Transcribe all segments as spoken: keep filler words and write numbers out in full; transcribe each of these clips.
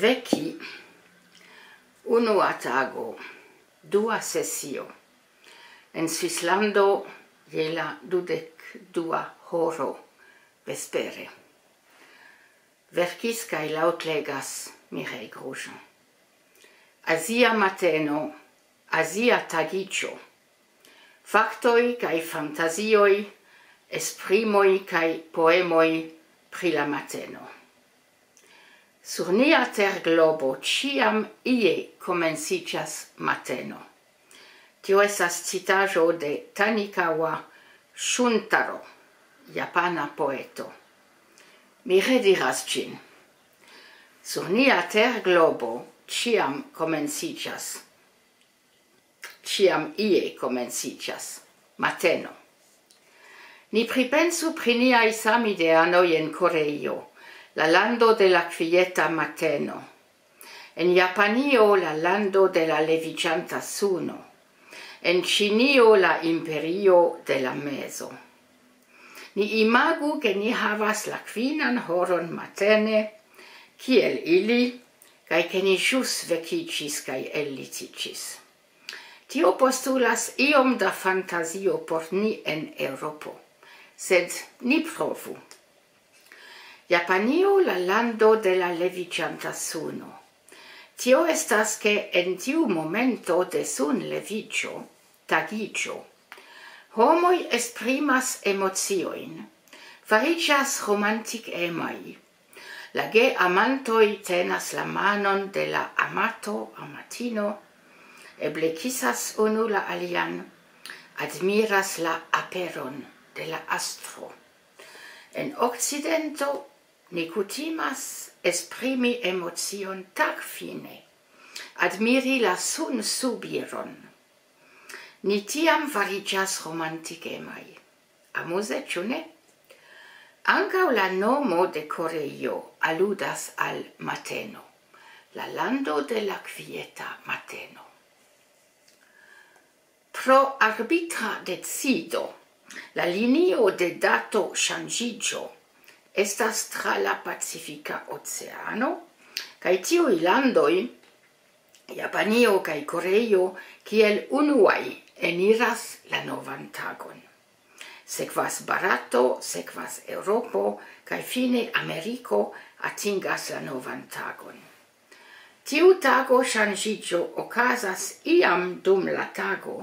Veki, unua tago, dua sesio. En Svislando je la dudek dua horo vespere. Verkis kaj laŭtlegas Mireille Grosjean. Azia mateno, azia tagiĝo. Faktoj kaj fantazioj, esprimoj kaj poemoj pri la mateno. Sur nia terglobo ĉiam ie komenciĝas mateno. Tio estas citaĵo de Tanikawa Shuntaro, japana poeto. Mi rediras ĝin. Sur nia terglobo ĉiam komenciĝas, ĉiam ie komenciĝas mateno. Ni pripensu pri niaj samideanoj en Koreio, la lando de la kvieta mateno. En Japanio, la lando de la leviĝanta suno. En Ĉinio, la imperio de la mezo. Ni imagu, ke ni havas la kvinan horon matene, kiel ili, kaj ke ni ĵus vekiĝis kaj ellitiĝis. Tio postulas iom da fantazio por ni en Eŭropo, sed ni provu. Japanio, la lando de la leviĝanta suno. Tio estas, ke en tiu momento de sunleviĝo, tagiĝo, homoj esprimas emociojn, fariĝas romantikemaj. La geamantoj tenas la manon de la amato, amatino, eble kisas unu la alian, admiras la aperon de la astro. En Okcidento ni kutimas esprimi emocion tagfine, admiri la sunsubiron. Ni tiam fariĝas romantikemaj. Amuze, ĉu ne? Ankaŭ la nomo de Koreio aludas al mateno, la lando de la kvieta mateno. Pro arbitra decido, la linio de dato ŝanĝiĝo estas tra la Pacifika Oceano, kaj tiuj landoj, Japanio kaj Koreio, kiel unuaj eniras la novan tagon. Sekvas Barato, sekvas Eŭropo, kaj fine Ameriko atingas la novan tagon. Tiu tago ŝanĝiĝo okazas iam dum la tago,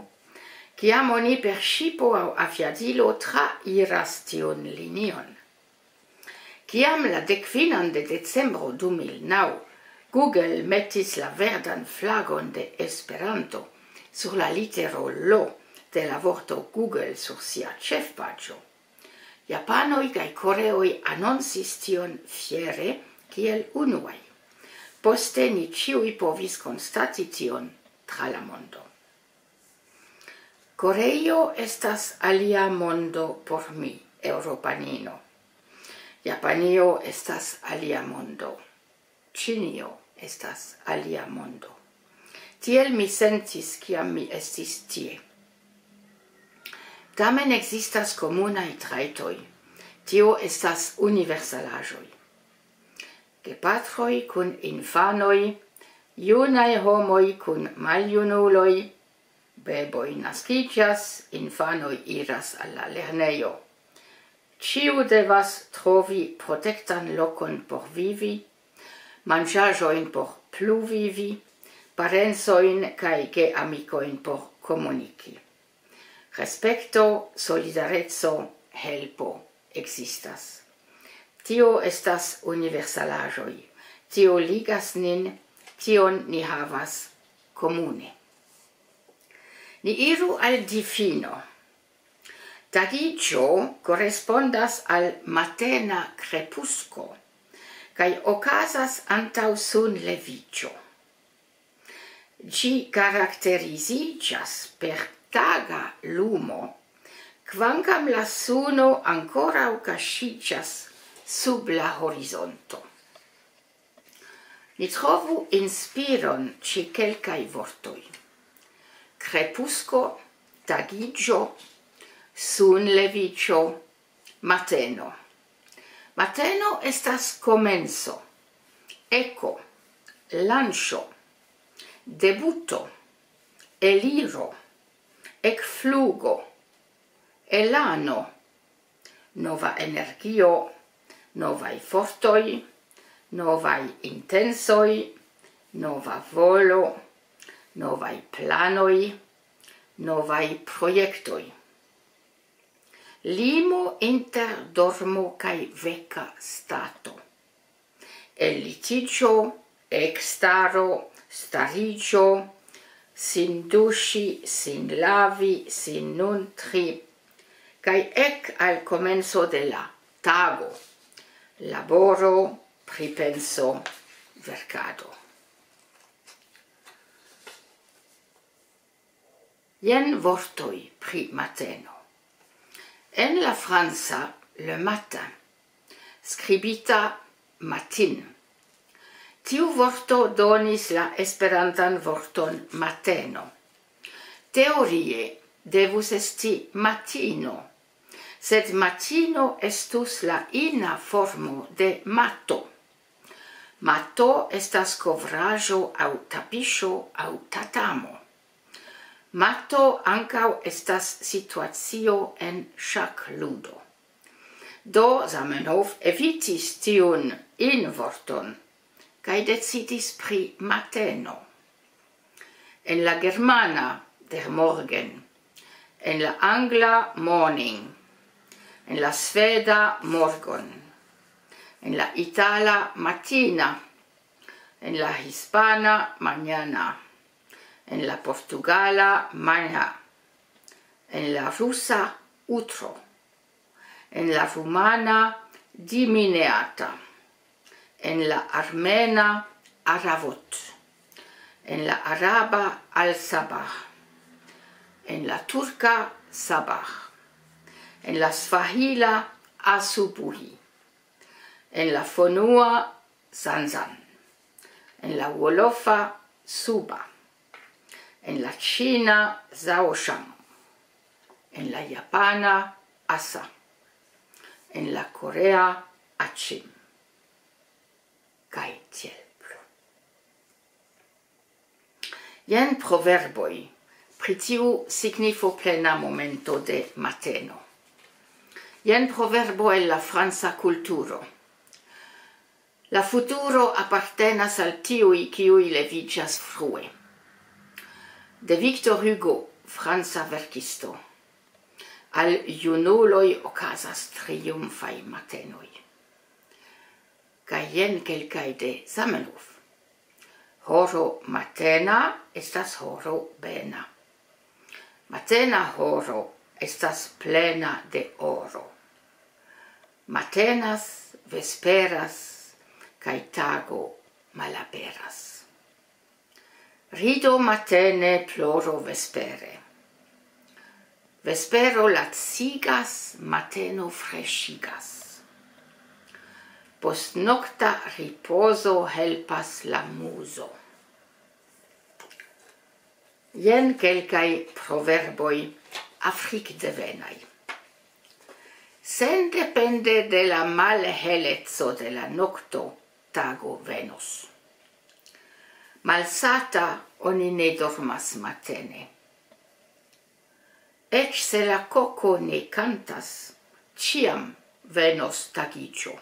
kiam oni per ŝipo aŭ aviadilo trairas tiun linion. Kiam la dekfinan de decembro du mil naŭ Google metis la verdan flagon de Esperanto sur la litero L de la vorto Google sur sia ĉefpaĝo, japanoj kaj koreoj anoncis tion fiere kiel unuaj. Poste ni ĉiuj povis konstati tion tra la mondo. Koreio estas alia mondo por mi, eŭropanino. Japanio estas alia mondo. Ĉinio estas alia mondo. Tiel mi sentis, kiam mi estis tie. Tamen ekzistas komunaj trajtoj. Tio estas universalaĵoj. Gepatroj kun infanoj, junaj homoj kun maljunuloj, beboj naskiĝas, infanoj iras al la lernejo. Ĉiu devas trovi protektan lokon por vivi, manĝaĵojn por pluvivi, parencojn kaj geamikojn por komuniki. Respekto, solidareco, helpo ekzistas. Tio estas universalaĵoj. Tio ligas nin, tion ni havas komune. Ni iru al difino. Tagiĝo korespondas al matena krepusko, kaj okazas antaŭ sunleviĝo. Ĝi karakteriziĝas per taga lumo, kvankam la suno ankoraŭ kaŝiĝas sub la horizonto. Ni trovu inspiron ĉe kelkaj vortoj. Krepusko, tagiĝo, sunleviĝo, mateno. Mateno estas komenco, eko, Lanĉo, debuto, eliro, ekflugo, elano, nova energio, novaj fortoj, novaj intensoj, nova volo, novaj planoj, novaj projektoj. Limo inter dormo kaj veka stato. Ellitiĝo, ekstaro, stariĝo, sin duŝi, sin lavi, sin nuntri, kaj ek al komenco de la tago. Laboro, pripenso, verkado. Jen vortoj pri mateno. En la franca, le matin, skribita matin. Tiu vorto donis la esperantan vorton mateno. Teorie devus esti matino, sed matino estus la ina formo de mato. Mato estas kovraĵo aŭ tapiŝo aŭ tatamo. Mato ankaŭ estas situacio en ŝakludo. Do Zamenhof evitis tiun invorton kaj decidis pri mateno. En la germana, der Morgen, en la angla, morning, en la sveda, morgon, en la itala, matina, en la hispana, mañana, en la portugala, mañana, en la rusa, utro, en la rumana, dimineata, en la armena, aravot, en la araba, al-sabah, en la turka, sabah, en la svahila, asubuhi, en la fonua, zanzan, en la wolofa, suba, en la ĉina, zaoŝan, en la japana, asa, en la korea, aĉim, kaj tiel plu. Jen proverboj pri tiu signifo plena momento de mateno. Jen proverbo el la franca kulturo. La futuro apartenas al tiuj, kiuj leviĝas frue. De Victor Hugo, franca verkisto. Al junuloj okazas triumfaj matenoj. Kaj jen kelkaj de Zamenhof. Horo matena estas horo bena. Matena horo estas plena de oro. Matenas, vesperas, kaj tago malaperas. Rido matene, ploro vespere. Vespero lacigas, mateno freŝigas. Postnokta ripozo helpas la muzo. Jen kelkaj proverboj afrikdevenaj. Sendepende de la malheleco de la nokto, tago venos. Malsata oni ne dormas matene. Eĉ se la koko ne kantas, ĉiam venos tagiĝo.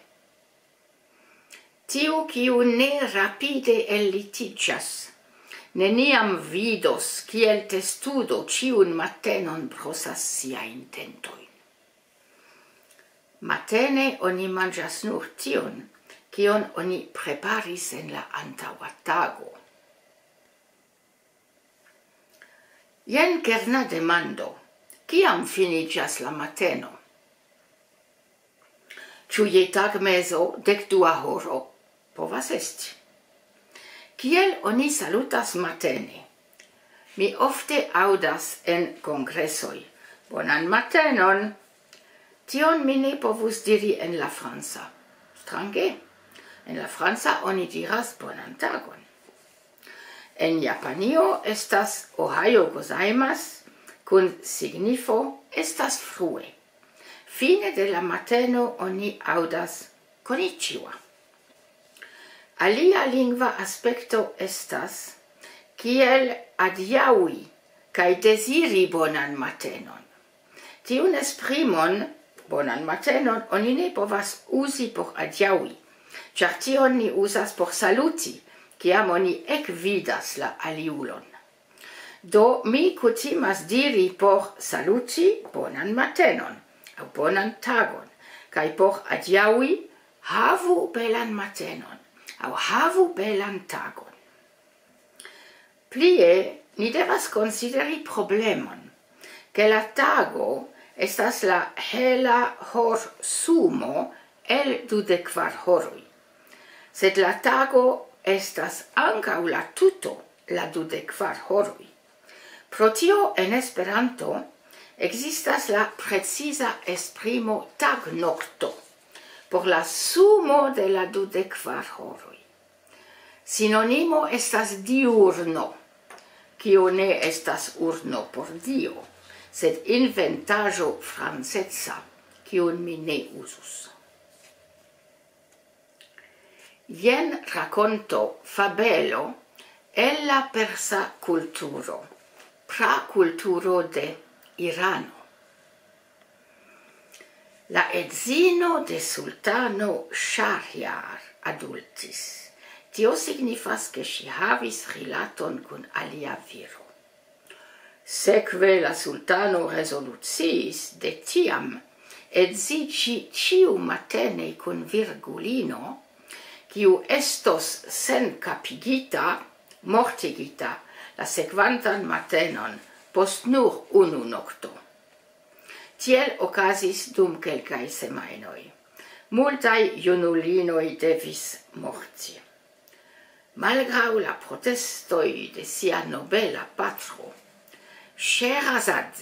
Tiu, kiu ne rapide ellitiĝas, neniam vidos, kiel testudo ĉiun matenon brosas siajn dentojn. Matene oni manĝas nur tion, kion oni preparis en la antaŭa tago. Jen kerna demando: kiam finiĝas la mateno? Ĉu je tagmezo, dekdua horo? Povas esti. Kiel oni salutas matene? Mi ofte aŭdas en kongresoj: "Bonan matenon!" Tion mi ne povus diri en la franca. Strange. En la franca oni diras: "Bonan tagon." En Japanio estas "Ohayo gozaimasu", kun signifo "estas frue". Fine de la mateno oni aŭdas "Konnichiwa". Alia lingva aspekto estas kiel adiaŭi kaj deziri bonan matenon. Tiun esprimon, bonan matenon, oni ne povas uzi por adiaŭi, ĉar tion ni uzas por saluti, kiam oni ekvidas la aliulon. Do mi kutimas diri por saluti bonan matenon aŭ bonan tagon, kaj por adiaŭi havu belan matenon aŭ havu belan tagon. Plie, ni devas konsideri problemon, ke la tago estas la hela horsumo el dudek kvar horoj. Sed la tago estas ankaŭ la tuto, la dudek kvar horoj. Pro tio en Esperanto ekzistas la preciza esprimo tagnokto por la sumo de la dudek kvar horoj. Sinonimo estas diurno, kio ne estas urno por Dio, sed inventaĵo franceca, kiun mi ne uzus. Jen rakonto, fabelo el la persa kulturo, prakulturo de Irano. La edzino de sultano Ŝahriar adultis. Tio signifas, ke ŝi havis rilaton kun alia viro. Sekve la sultano rezoluciis de tiam edziĝi ĉiumatene kun virgulino, kiu estos senkapigita, mortigita, la sekvantan matenon post nur unu nokto. Tiel okazis dum kelkaj semajnoj. Multaj junulinoj devis morti. Malgraŭ la protestoj de sia nobela patro, Sherazad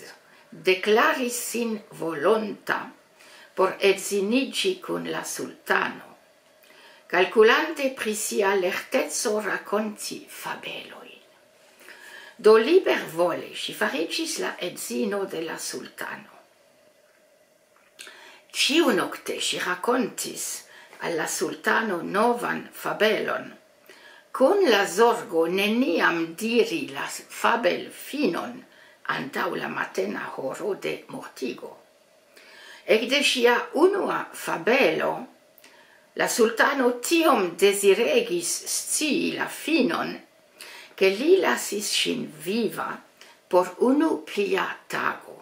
deklaris sin volonta por edziniĝi kun la sultano, kalkulante pri sia lerteco rakonti fabelojn. Do libervole ŝi fariĝis la edzino de la sultano. Ĉiunokte ŝi rakontis al la sultano novan fabelon, kun la zorgo neniam diri la fabelfinon antaŭ la matena horo de mortigo. Ekde ŝia unua fabelo, la sultano tiom deziregis scii la finon, ke li lasis ŝin viva por unu plia tago.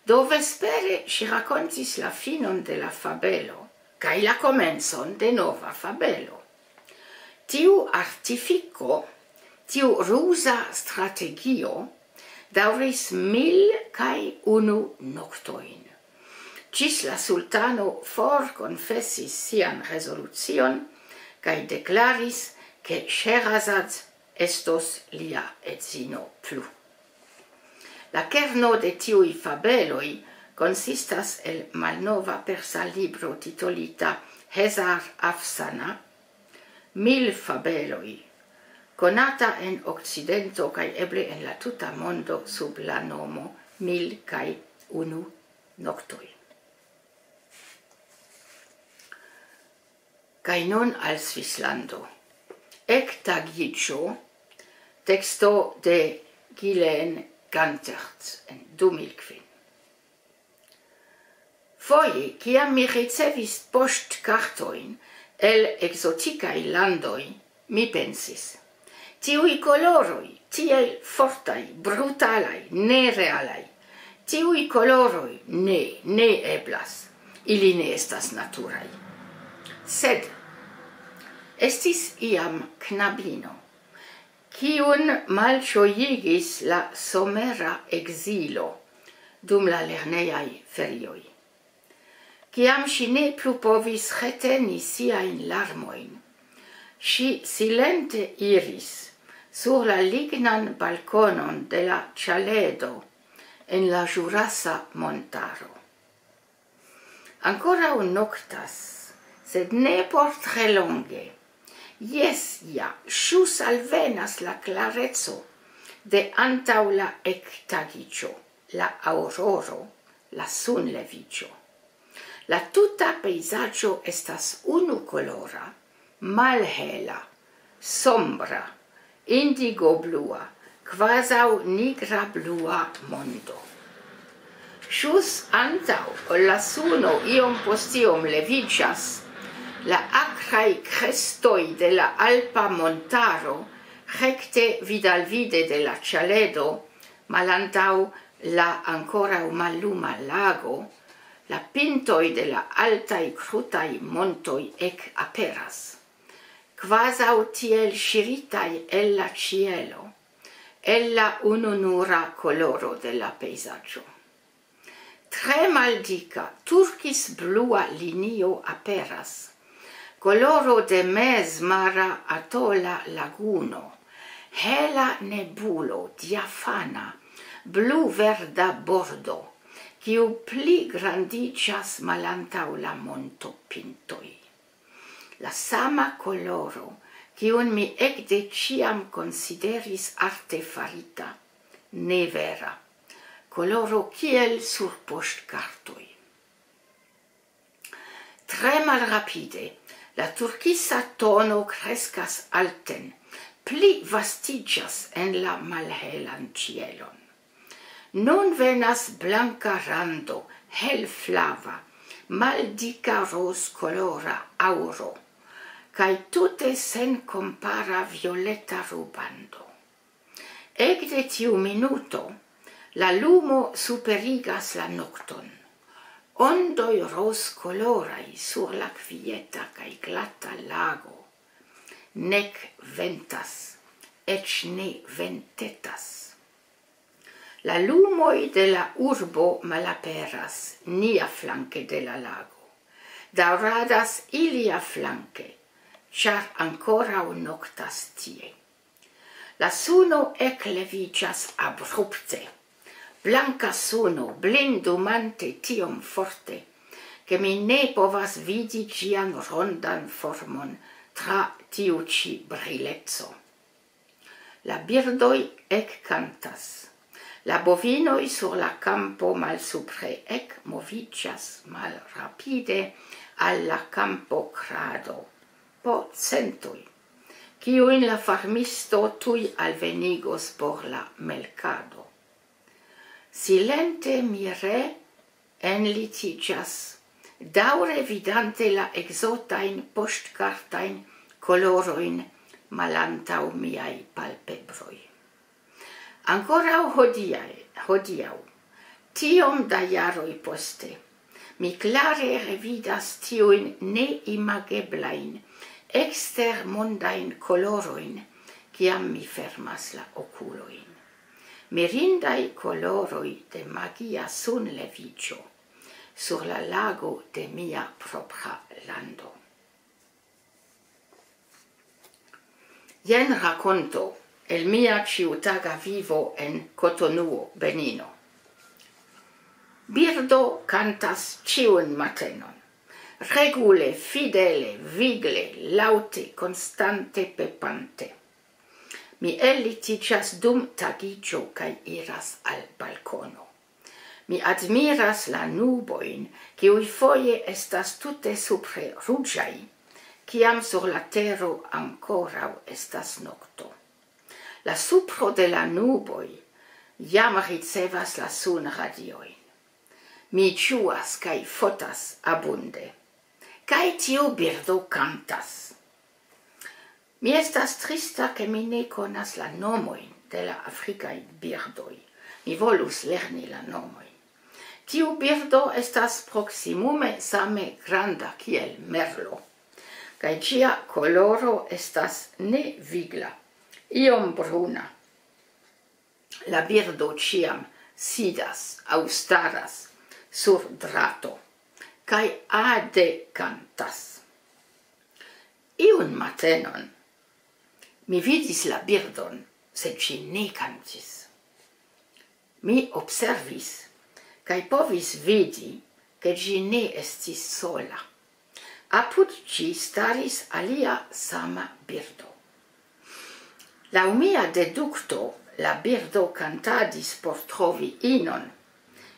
Do vespere ŝi rakontis la finon de la fabelo kaj la komencon de nova fabelo. Tiu artifiko, tiu ruza strategio daŭris mil kaj unu noktojn, ĝis la sultano forkonfesis sian rezolucion kaj deklaris, ke Sherazad estos lia edzino plu. La kerno de tiuj fabeloj konsistas el malnova persa libro titolita Hezar Afsana, Mil Fabeloj, konata en Okcidento kaj eble en la tuta mondo sub la nomo Mil kaj Unu Noktoj. Kaj nun al Svislando. Ektagiĝo, teksto de Gilles Gantert en du mil kvin. Foje, kiam mi ricevis poŝtkartojn el ekzotikaj landoj, mi pensis: "Tiuj koloroj, tiel fortaj, brutalaj, nerealaj, tiuj koloroj, ne, ne eblas, ili ne estas naturaj." Sed estis iam knabino, kiun malĝojigis la somera ekzilo dum la lernejaj ferioj. Kiam ŝi ne plu povis reteni siajn larmojn, ŝi silente iris sur la lignan balkonon de la ĉaledo en la Ĵurasa Montaro. Ankoraŭ noktas, sed ne por tre longe. Jes, ja, ĵus alvenas la klareco de antaŭ la ektagiĝo, la aŭroro, la sunleviĝo. La tuta pejzaĝo estas unukolora, Malhela, sombra, indigoblua, kvazaŭ nigra blua mondo. Ĵus antaŭ ol la suno iom post iom leviĝas, la akraj krestoj de la alpa montaro, rekte vidalvide de la ĉaledo, malantaŭ la ankoraŭ malluma lago, la pintoj de la altaj krutaj montoj ekaperas, kvazaŭ tiel ŝiritaj el la ĉielo, el la ununura koloro de la pejzaĝo. Tre maldika turkis blua linio aperas, koloro de mezmara atola laguno, hela nebulo diafana, blu-verda bordo, kiu pli grandiĝas malantaŭ la montopintoj. La sama koloro, kiun mi ekde ĉiam konsideris artefarita, ne vera. Koloro kiel sur poŝtkartoj. Tre malrapide, la turkisa tono kreskas alten, pli vastiĝas en la malhelan ĉielon. Nun venas blanka rando, helflava, maldika rozkolora aŭro, kaj tute senkompara violeta rubando. Ekde tiu minuto, la lumo superigas la nokton. Ondoj rozkoloraj sur la kvieta kaj glata lago. Nek ventas, eĉ ne ventetas. La lumoj de la urbo malaperas niaflanke de la lago. Daŭradas iliaflanke, ĉar ankoraŭ noktas tie. La suno ekleviĝas abrupte. Blanka suno, blindumante tiom forte, ke mi ne povas vidi ĝian rondan formon tra tiu ĉi brileco. La birdoj ekkantas. La bovinoj sur la kampo malsupre ekmoviĝas malrapide al la kampokrado, po centoj, kiujn la farmisto tuj alvenigos por la melkado. Silente mi reenlitiĝas, daŭre vidante la ekzotajn poŝtkartajn kolorojn malantaŭ miaj palpebroj. Ankoraŭ hodiaj, hodiaŭ, tiom da jaroj poste, mi klare revidas tiujn neimageblajn, ekstermondajn kolorojn, kiam mi fermas la okulojn. Mirindaj koloroj de magia sunleviĝo sur la lago de mia propra lando. Jen rakonto el mia ĉiutaga vivo en Kotonuo, Benino. Birdo kantas ĉiun matenon. Regule, fidele, vigle, laŭte, konstante pepante. Mi ellitiĝas dum tagiĝo kaj iras al balkono. Mi admiras la nubojn, kiuj foje estas tute supre ruĝaj, kiam sur la tero ankoraŭ estas nokto. La supro de la nuboj jam ricevas la sunradiojn. Mi ĝuas kaj fotas abunde. Kaj tiu birdo kantas. Mi estas trista, ke mi ne konas la nomojn de la afrikaj birdoj. Mi volus lerni la nomojn. Tiu birdo estas proksimume same granda kiel merlo, kaj ĝia koloro estas ne vigla, iom bruna. La birdo ĉiam sidas aŭ staras sur drato, kaj ade kantas. Iun matenon mi vidis la birdon, sed ŝi ne kantis. Mi observis, kaj povis vidi, ke ĝi ne estis sola. Apud ĝi staris alia sama birdo. Laŭ mia dedukto, la birdo kantadis por trovi inon,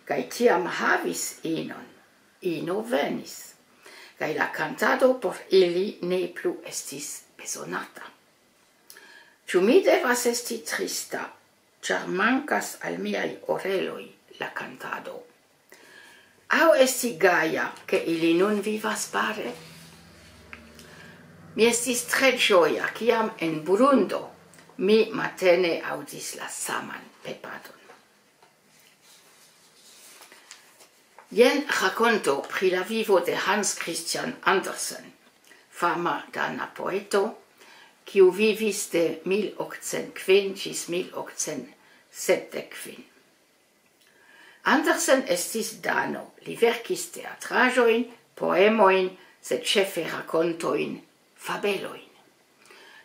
kaj tiam havis inon. Ino venis. kaj la kantado por ili ne plu estis bezonata. Ĉu mi devas esti trista, ĉar mankas al miaj oreloj la kantado? Aŭ esti gaja, ke ili nun vivas pare? Mi estis tre ĝoja, kiam en Burundo mi matene aŭdis la saman pepadon. Jen rakonto pri la vivo de Hans Christian Andersen, fama dana poeto, kiu vivis de mil okcent kvin ĝis mil okcent sepdek kvin. Andersen estis dano, li verkis teatraĵojn, poemojn, sed ĉefe rakontojn, fabelojn.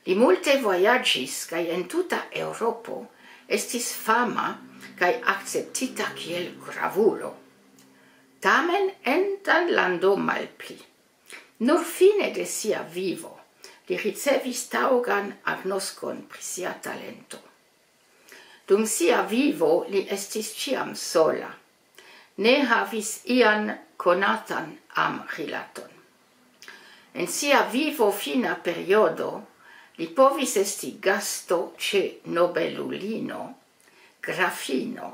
Li multe vojaĝis kaj en tuta Eŭropo estis fama kaj akceptita kiel gravulo. Tamen en Danlando malpli. Nur fine de sia vivo li ricevis taŭgan agnoskon pri sia talento. Dum sia vivo li estis ĉiam sola. Ne havis ian konatan amrilaton. En sia vivo fina periodo li povis esti gasto ĉe nobelulino, grafino,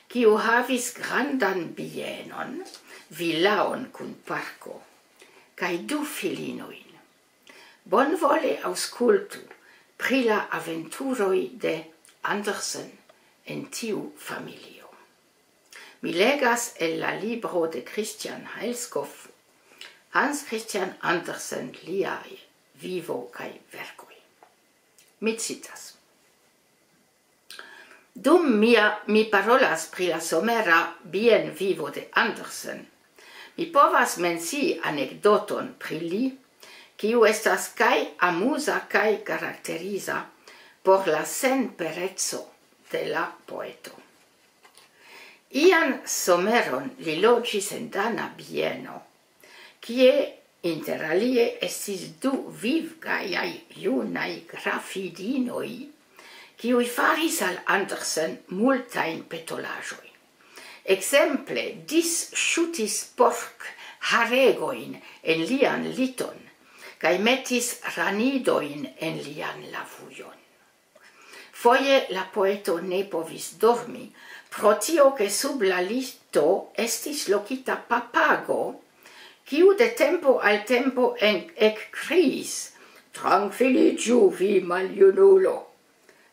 kiu havis grandan bienon, vilaon kun parko, kaj du filinojn. Bonvole aŭskultu pri la aventuroj de Andersen en tiu familio. Mi legas el la libro de Christian Heilskopf, Hans Christian Andersen, liaj vivo kaj verkoj. Mi citas: Dum mia, mi parolas pri la somera bienvivo de Andersen, mi povas mencii anekdoton pri li, kiu estas kaj amuza kaj karakteriza por la senpereco de la poeto. Ian someron li loĝis en dana bieno, kie inter alie estis du vivgajaj junaj grafidinoj, kiuj faris al Andersen multajn petolaĵojn. Ekzemple, disŝutis pork haregojn en lian liton, kaj metis ranidojn en lian lavujon. Foje la poeto ne povis dormi, pro tio ke sub la lito estis lokita papago, kiu de tempo al tempo en-, ekkriis: "Trankviliĝu, vi maljunulo!"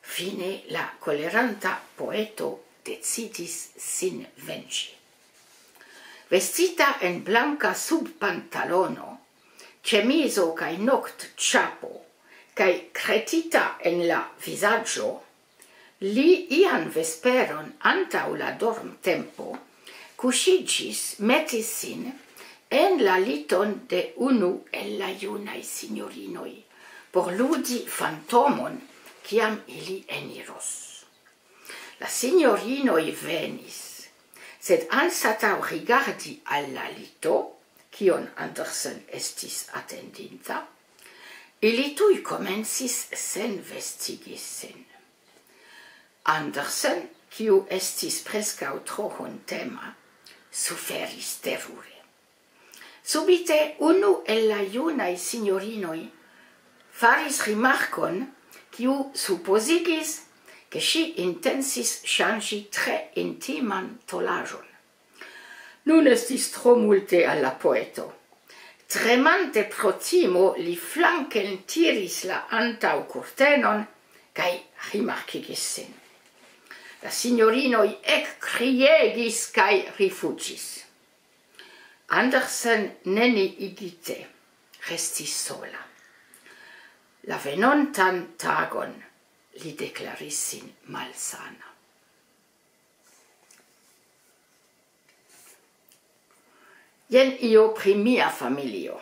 Fine la koleranta poeto decidis sin venĝi. Vestita en blanka subpantalono, ĉemizo kaj noktĉapo, kaj kretita en la vizaĝo, li ian vesperon antaŭ la dormtempo kuŝiĝis, metis sin en la liton de unu el la junaj sinjorinoj, por ludi fantomon, kiam ili eniros. La sinjorinoj venis, sed anstataŭ rigardi al la lito, kion Andersen estis atendinta, ili tuj komencis senvestigi sin. Andersen, kiu estis preskaŭ tro hontema, suferis terure. Subite unu el la junaj sinjorinoj faris rimarkon, kiu supozigis, ke ŝi intencis ŝanĝi tre intiman tolaĵon. Nun estis tro multe al la poeto. Tremante pro timo, li flanken tiris la antaŭkurtenon kaj rimarkigis sin. La sinjorinoj ekkriegis kaj rifuĝis. Andersen, neniigite, restis sola. La venontan tagon li deklaris sin malsana. Jen io pri mia familio.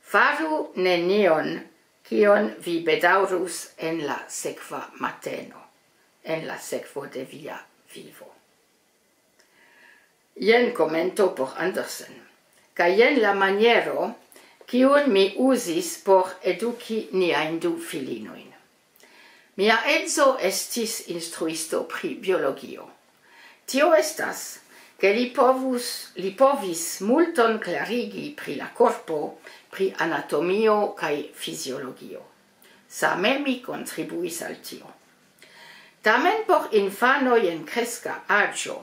Faru nenion, kion vi bedaŭrus en la sekva mateno, en la sekvo de via vivo. Jen komento por Andersen. Kaj jen la maniero, kiun mi uzis por eduki niajn du filinojn. Mia edzo estis instruisto pri biologio. Tio estas, ke li povus, li povis multon klarigi pri la korpo, pri anatomio kaj fiziologio. Same mi kontribuis al tio. Tamen por infanoj en kreska aĝo,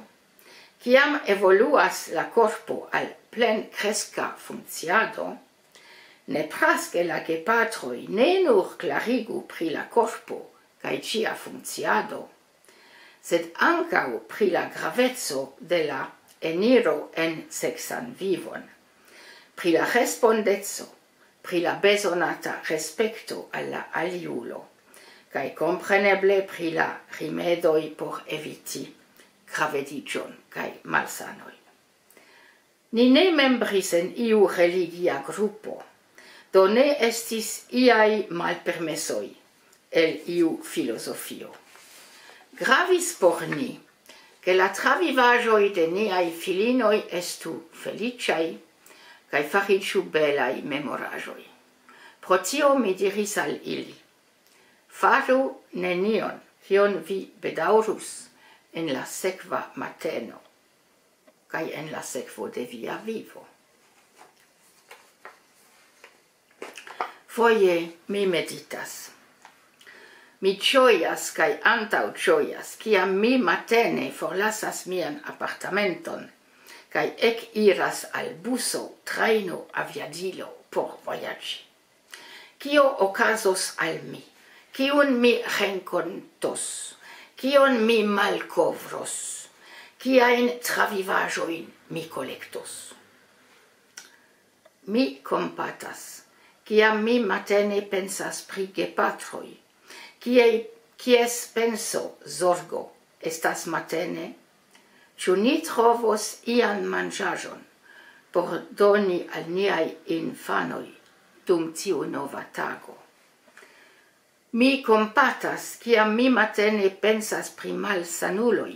kiam evoluas la korpo al plenkreska funkciado, nepras ke la gepatroj ne nur klarigu pri la korpo kaj ĝia funkciado, sed ankaŭ pri la graveco de la eniro en seksan vivon, pri la respondeco, pri la bezonata respekto al la aliulo, kaj kompreneble pri la rimedoj por eviti gravediĝon kaj malsanoj. Ni ne membris en iu religia grupo, do ne estis iaj malpermesoj el iu filozofio. Gravis por ni, ke la travivaĵoj de niaj filinoj estu feliĉaj kaj fariĝu belaj memoraĵoj. Pro tio mi diris al ili: "Faru nenion, kion vi bedaŭrus en la sekva mateno kaj en la sekvo de via vivo." Foje mi meditas. Mi ĝojas kaj antaŭĝojas, kiam mi matene forlasas mian apartamenton kaj ekiras al buso, trajno, aviadilo por vojaĝi. Kio okazos al mi? Kiun mi renkontos? Kion mi malkovros? Kiajn travivaĵojn mi kolektos? Mi kompatas, kiam mi matene pensas pri gepatroj, kie, kies penso, zorgo estas matene? Ĉu ni trovos ian manĝaĵon por doni al niaj infanoj dum tiu nova tago? Mi kompatas, kiam mi matene pensas pri malsanuloj,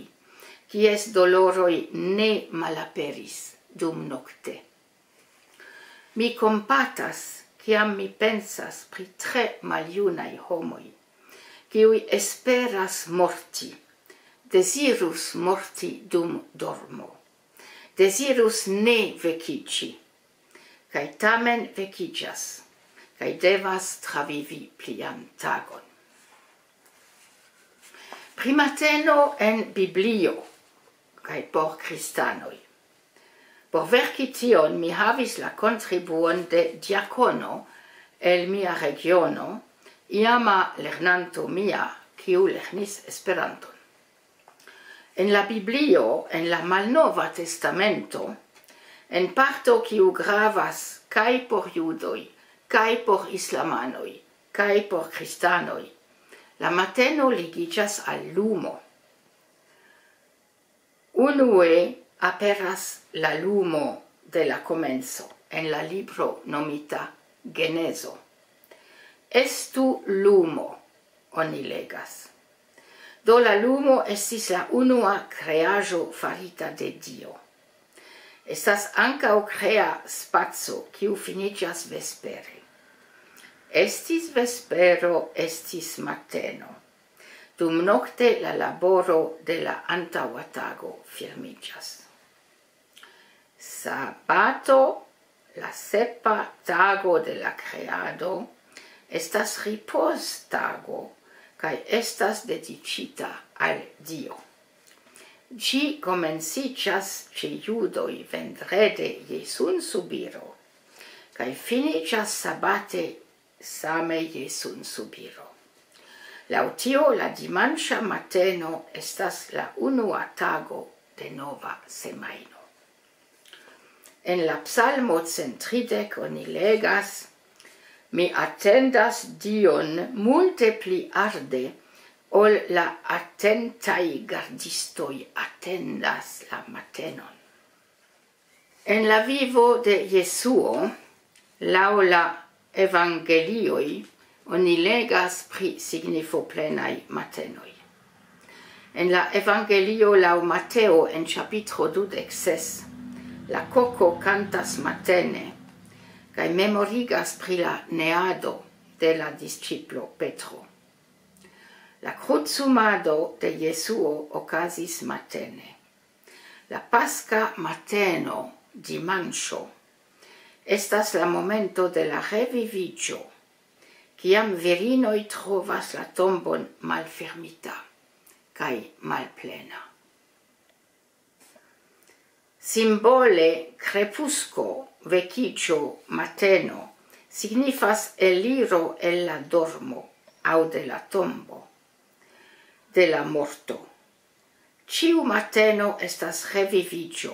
kies doloroj ne malaperis dum nokte. Mi kompatas, kiam mi pensas pri tre maljunaj homoj, kiuj esperas morti, dezirus morti dum dormo, dezirus ne vekiĝi, kaj tamen vekiĝas, kaj devas travivi plian tagon. Pri mateno en Biblio kaj por kristanoj. Por verki tion mi havis la kontribuon de diakono el mia regiono, iama lernanto mia, kiu lernis Esperanton. En la Biblio, en la Malnova Testamento, en parto kiu gravas kaj por judoj, kaj por islamanoj, kaj por kristanoj, la mateno ligiĝas al lumo. Unue aperas la lumo de la komenco en la libro nomita Genezo. "Estu lumo", oni legas. Do la lumo estis la unua kreaĵo farita de Dio. Estas ankaŭ krea spaco, kiu finiĝas vespere. Estis vespero, estis mateno. Dum nokte la laboro de la antaŭa tago firmiĝas. Sabato, la sepa tago de la kreado, estas ripostago kaj estas dediĉita al Dio. Ĝi komenciĝas ĉe judoj vendrede je sunsubiro, kaj finiĝas sabate same je sunsubiro. Laŭ tio, la dimanĉa mateno estas la unua tago de nova semajno. En la Psalmo cent tridek oni legas: "Mi atendas Dion multe pli arde, ol la atentaj gardistoj atendas la matenon." En la vivo de Jesuo, laŭ la evangelioj, oni legas pri signifoplenaj matenoj. En la evangelio laŭ Mateo, en ĉapitro dudek ses, la koko kantas matene kaj memorigas pri la neado de la disĉiplo Petro. La krucumado de Jesuo okazis matene. La paska mateno, dimanĉo, estas la momento de la reviviĝo, kiam virinoj trovas la tombon malfermita kaj malplena. Simbole krepusko, vekiĝo, mateno signifas eliro el la dormo aŭ de la tombo de la morto. Ĉiu mateno estas reviviĝo,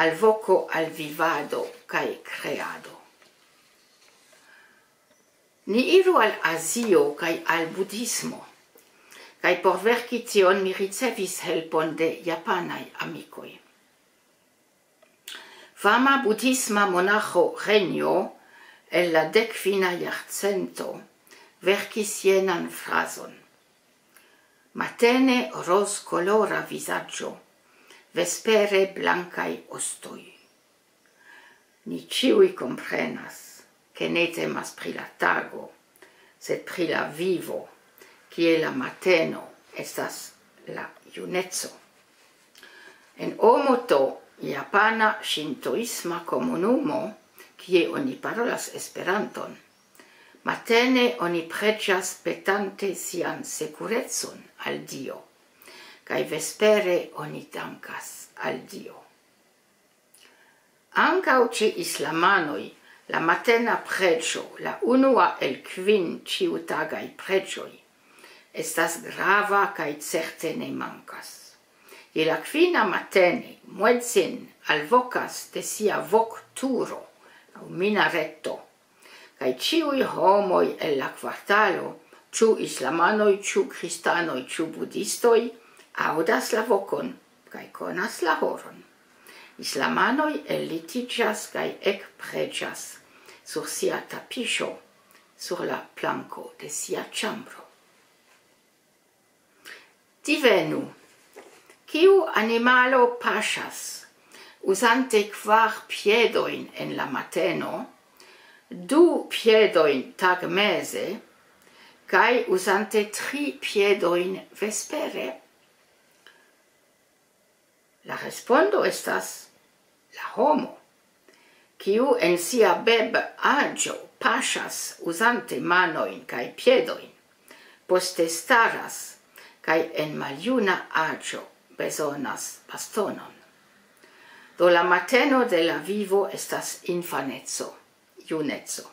alvoko al vivado kaj kreado. Ni iru al Azio kaj al budhismo. Kaj por verki tion mi ricevis helpon de japanaj amikoj. Fama budhisma monaĥo Renjo el la dekfina jarcento verkis jenan frazon: "Matene rozkolora vizaĝo, vespere blankaj ostoj." Ni ĉiuj komprenas, ke ne temas pri la tago, sed pri la vivo, kie la mateno estas la juneco. En Omoto, japana ŝintoisma komunumo, kie oni parolas Esperanton, matene oni preĝas petante sian sekurecon al Dio, kaj vespere oni dankas al Dio. Ankaŭ ĉe islamanoj la matena preĝo, la unua el kvin ĉiutagaj preĝoj, estas grava kaj certe ne mankas. Je la kvina matene muedzin alvokas de sia vokturo aŭ minareto, kaj ĉiuj homoj el la kvartalo, ĉu islamanoj, ĉu kristanoj, ĉu budistoj, aŭdas la vokon kaj konas la horon. Islamanoj ellitiĝas kaj ekpreĝas sur sia tapiŝo, sur la planko de sia ĉambro. Divenu, kiu animalo paŝas, uzante kvar piedojn en la mateno, du piedojn tagmeze, kaj uzante tri piedojn vespere? La respondo estas la homo, kiu en sia beb-aĝo paŝas uzante manojn kaj piedojn, poste staras kaj en maljuna aĝo bezonas bastonon. Do la mateno de la vivo estas infaneco, juneco.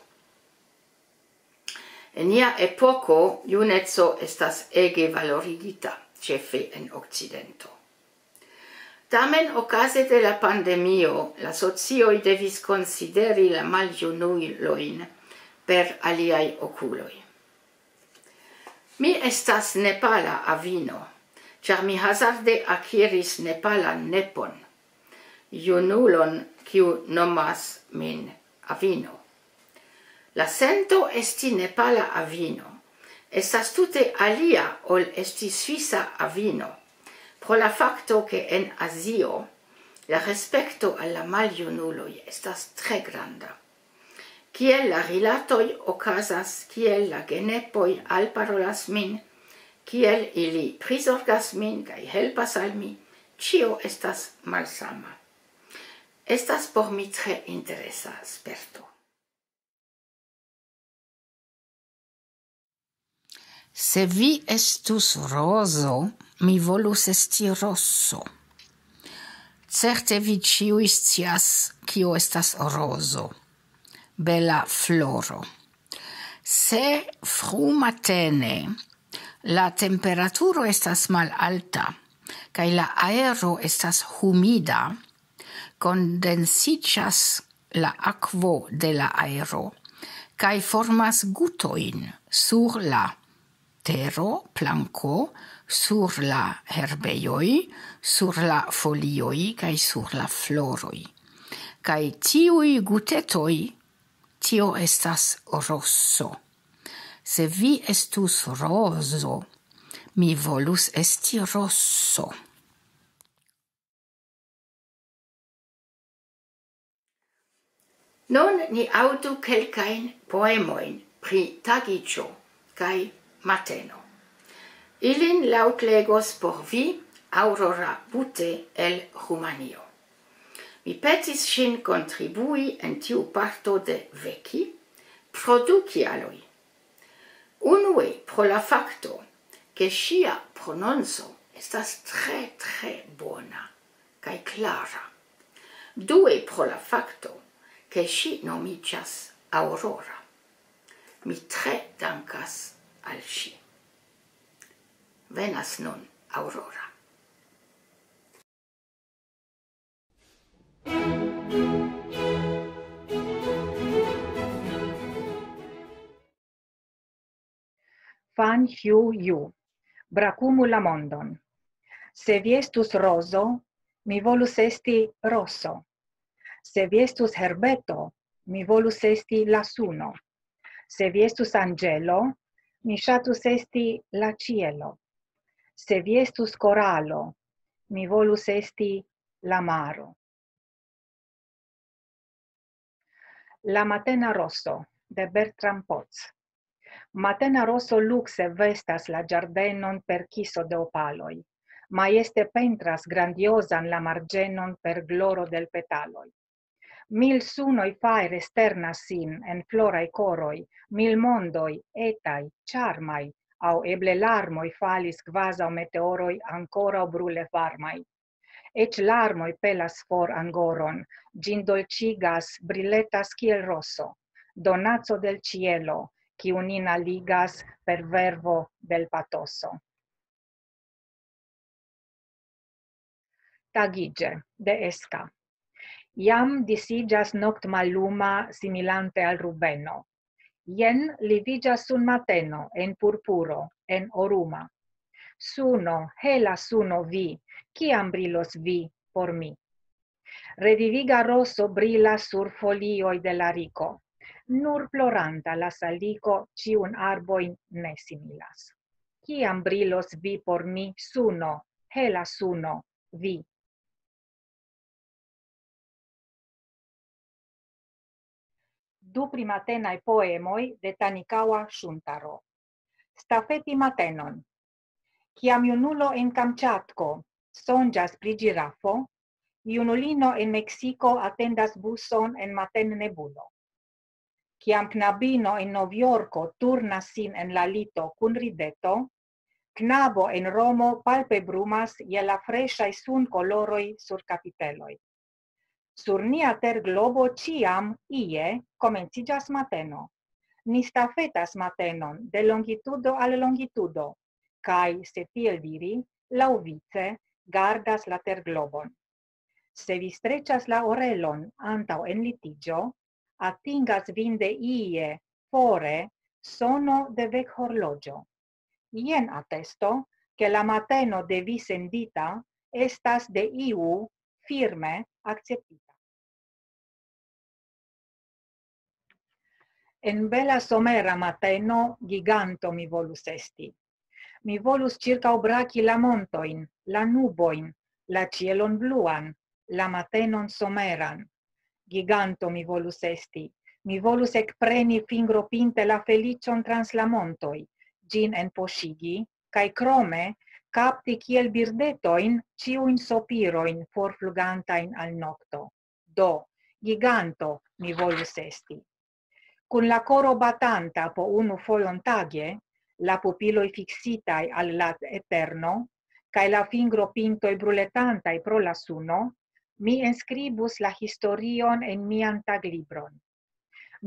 En nia epoko juneco estas ege valorigita, ĉefe en Okcidento. Tamen okaze de la pandemio la socioj devis konsideri la maljunulojn per aliaj okuloj. Mi estas nepala avino, ĉar mi hazarde akiris nepalan nepon, junulon, kiu nomas min avino. La sento esti nepala avino estas tute alia ol esti svisa avino, pro la fakto, ke en Azio la respekto al la maljunuloj estas tre granda. Kiel la rilatoj okazas, kiel la genepoj alparolas min, kiel ili prizorgas min kaj helpas al mi, ĉio estas malsama. Estas por mi tre interesa sperto. Se vi estus rozo, mi volus esti roso. Certe vi ĉiuj scias, kio estas rozo. Bela floro. Se frumatene la temperaturo estas malalta, kaj la aero estas humida, kondensiĝas la akvo de la aero, kaj formas gutojn sur la tero, planko, sur la herbejoj, sur la folioj kaj sur la floroj. Kaj tiuj gutetoj, tio estas roso. Se vi estus rozo, mi volus esti roso. Nun ni aŭdu kelkajn poemojn pri tagiĝo kaj mateno. Ilin laŭtlegos por vi Aurora Bute el Rumanio. Mi petis ŝin kontribui en tiu parto de Veki pro du kialoj. Unue pro la fakto, ke ŝia prononco estas tre, tre bona kaj klara. Due pro la fakto, ke ŝi nomiĝas Aurora. Mi tre dankas al ŝi. Venas nun Aurora. Fan Hyu Yu. Brakumu la mondon. Se vi estus rozo, mi volus esti roso. Se vi estus herbeto, mi volus esti la suno. Se vi estus anĝelo, mi ŝatus esti la ĉielo. Se vi estus koralo, mi volus esti la maro. La matena roso de Bertram Potts. Matena roso lukse vestas la ĝardenon per kiso de opaloj. Majeste pentras grandiozan la marĝenon per gloro del petaloj. Mil sunoj fajre sternas sin en floraj koroj, mil mondoj, etaj, ĉarmaj, aŭ eble larmoj falis kvazaŭ meteoroj ankoraŭ brule varmaj. Eĉ larmoj pelas for angoron, ĝin dolĉigas, briletas kiel roso, donaco del ĉielo, kiu nin aligas per vervo del patoso. Tagiĝe de Eska. Jam disiĝas noktmalluma similante al rubeno. Jen liviĝas sunmateno en purpuro, en oruma. Suno, hela suno vi, kiam brilos vi por mi? Reviviga roso brilas sur folioj de la riko. Nur ploranta la saliko ĉiun arbojn ne similas. Kiam brilos vi por mi, suno, hela suno, vi? Du primatenaj poemoj de Tanikawa Shuntaro. Stafeti matenon. Kiam junulo en Kamĉatko sonĝas pri ĝirafo, junulino en Meksiko atendas buson en matennebulo. Kiam knabino en Novjorko turnas sin en la lito kun rideto, knabo en Romo palpe brumas je la freŝaj sunkoloroj sur kapiteloj. Sur nia terglobo ĉiam ie komenciĝas mateno. Ni stafetas matenon de longitudo al longitudo, kaj, se tiel diri, laŭvice gardas la terglobon. Se vi streĉas la orelon antaŭ enlitiĝo, atingas vin de ie fore sono de vekhorloĝo. Jen atesto, ke la mateno de vi sendita estas de iu firme akceptita. En bela somera mateno giganto mi volus esti. Mi volus ĉirkaŭbraki la montojn, la nubojn, la ĉielon bluan, la matenon someran. Giganto mi volus esti. Mi volus ekpreni fingropinte la feliĉon trans la montoj, ĝin enpoŝigi, kaj krome kapti kiel birdetojn ĉiujn sopirojn forflugantajn al nokto. Do, giganto mi volus esti. Kun la koro batanta po unu fojon tage, la pupiloj fiksitaj al la eterno, kaj la fingropintoj bruletantaj pro la suno, mi enskribus la historion en mian taglibron.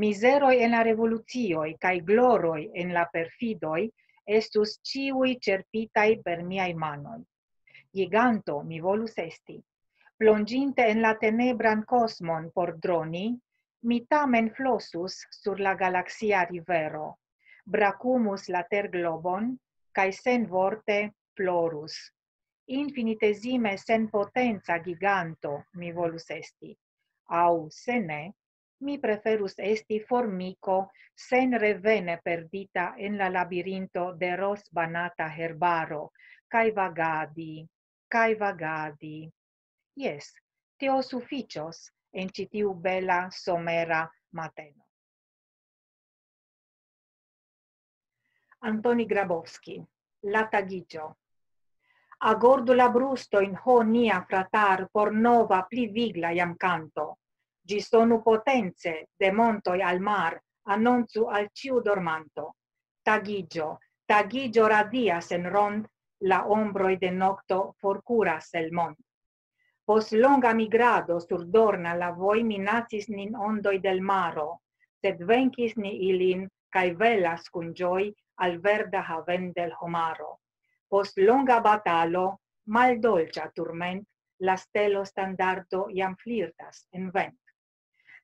Mizeroj en la revolucioj kaj gloroj en la perfidoj estus ĉiuj ĉerpitaj per miaj manoj. Giganto mi volus esti. Plonĝinte en la tenebran kosmon por droni, mi tamen flosus sur la galaksia rivero, brakumus la terglobon kaj senvorte plorus. Infinitezime senpotenca giganto mi volus esti. Aŭ, se ne, mi preferus esti formiko senrevene perdita en la labirinto de rozbanata herbaro, kaj vagadi, kaj vagadi. Jes, tio sufiĉos en ĉi tiu bela somera mateno. Antoni Grabowski, La tagiĝo. Agordu la brustojn, ho nia fratar, por nova, pli vigla jam kanto. Ĝi sonu potence, de montoj al mar, anoncu al ĉiu dormanto. Tagiĝo, tagiĝo radias en rond, la ombroj de nokto forkuras el mond. Post longa migrado sur dorna la voi minacis nin ondoj del maro, sed venkis ni ilin kaj velas kun ĝoj al verda haven del homaro. Post longa batalo, maldolĉa turment, la stelo standardo jam flirtas en vent.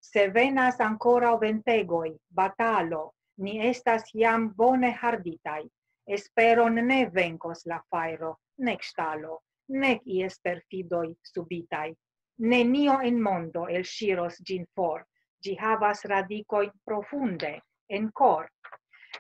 Se venas ankoraŭ ventegoj, batalo, ni estas jam bone harditaj. Esperon ne venkos la fajro, nek ŝtalo, nek ies perfidoj subitaj. Nenio en mondo elŝiros ĝin for, ĝi havas radikojn profunde en kor.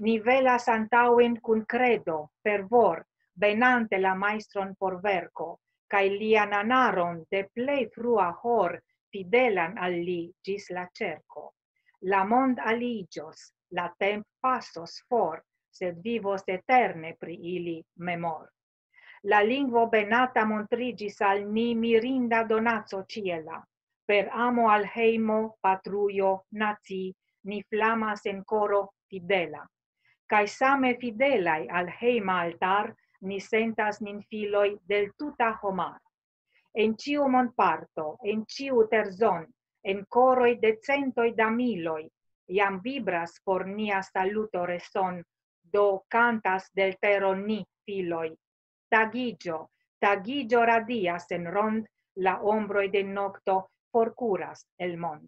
Ni velas antaŭen kun kredo, fervor, benante la majstron por verko, kaj lian anaron de plej frua hor fidelan al li ĝis la ĉerko. La mond aliĝos, la temp pasos for, sed vivos eterne pri ili memor. La lingvo benata montriĝis al ni mirinda donaco ĉiela. Per amo al hejmo, patrujo, naci, ni flamas en koro fidela. Kaj same fidelaj al hejma altar ni sentas nin filoj del tuta homar. En ĉiu mondparto, en ĉiu terzon, en koroj de centoj da miloj, jam vibras por nia saluto reson, do kantas del tero ni, filoj. Tagiĝo, tagiĝo radias en rond, la ombroj de nokto forkuras el mond.